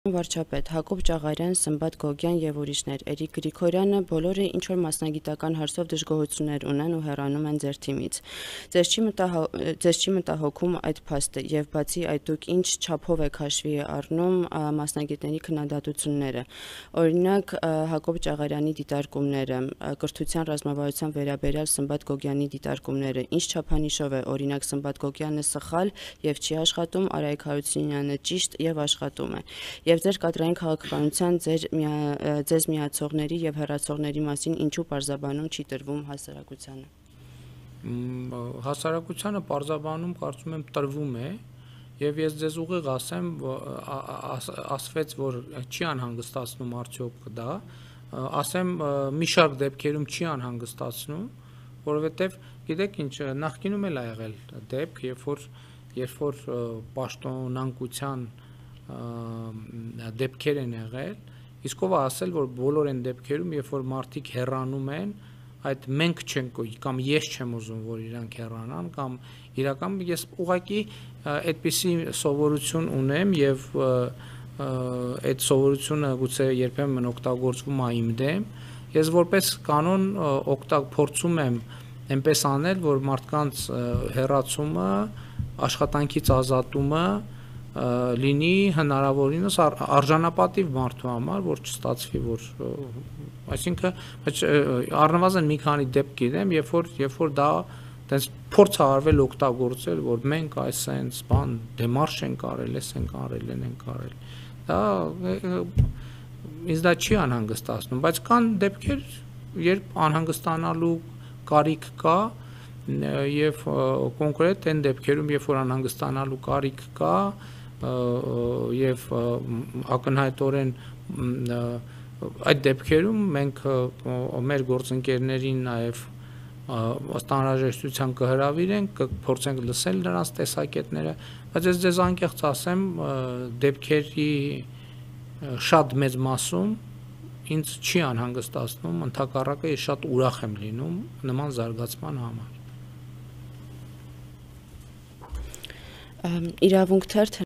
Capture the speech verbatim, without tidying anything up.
Վարչապետ, Հակոբ Ճաղարյան, Սմբատ Գոգյան եւ ուրիշներ, Էրիկ Գրիգորյանը բոլորը ինչ որ մասնագիտական հարցով դժգոհություններ ունեն ու հեռանում են ձեր թիմից։ Ձեզ չի ձեզ չի մտահոգում այդ փաստը եւ բացի այդ դուք ինչ չափով եք հաշվի առնում մասնագետների քննադատությունները։ Օրինակ Հակոբ Ճաղարյանի դիտարկումները, կրթության ռազմավարության վերաբերյալ Սմբատ Գոգյանի դիտարկումները, ինչ չափանիշով է օրինակ Սմբատ Գոգյանը սխալ եւ չի աշխատում, Արայիկ Հարությունյանը ճիշտ եւ աշխատում է։ Եվ ձեր կադրային քաղաքականության ձեր ձեզ միացողների եւ հեռացողների մասին ինչու պարզաբանում չի տրվում հասարակությանը։ Հասարակությանը պարզաբանում կարծում եմ տրվում է եւ ես ձեզ ուղիղ ասեմ, ասվեց, որ չի անհանգստացնում արդյոք դա, ասեմ մի շարք դեպքերում չի անհանգստացնում, որովհետեւ գիտեք ինչ, նախկինում էլ ա եղել դեպք, երբ որ երբ որ պաշտոնանկության դեպքեր են եղել, իսկ ով ասել, որ բոլոր այն դեպքերում, երբ որ մարդիկ հեռանում են, այդ մենք չենք կամ ես չեմ ուզում, որ իրանք հեռանան, կամ իրական ես ուղղակի այդպիսի սովորություն ունեմ եւ այդ սովորությունը գուցե երբեմն օգտագործվում է իմ դեմ, ես որպես կանոն օգտագ փորձում եմ այնպես անել, որ մարդկանց հեռացումը, աշխատանքից ազատումը լինի հնարավորինս արժանապատիվ մարդու համար, որ չստացվի, որ այսինքն առնվազն մի քանի դեպք գիտեմ, երբ որ երբ որ դա տենց փորձ է արվել օգտագործել, որ մենք այս sense բան դեմարշ ենք արել, էս ենք արել, են ենք արել։ Դա ինձ դա չի անհանգստացնում, բայց կան դեպքեր, երբ անհանգստանալու կարիք կա եւ կոնկրետ այն դեպքերում, երբ որ անհանգստանալու կարիք կա, եւ ակնհայտորեն այդ դեպքերում մենք մեր գործընկերներին նաեւ անհրաժեշտության կհրավիրենք, կփորձենք լսել նրանց տեսակետները, բայց ես ձեզ անկեղծ ասեմ, դեպքերի շատ մեծ մասում ինձ չի անհանգստացնում, ընդհակառակը ես շատ ուրախ եմ լինում նման զարգացման համար։ Իրավունք թերթը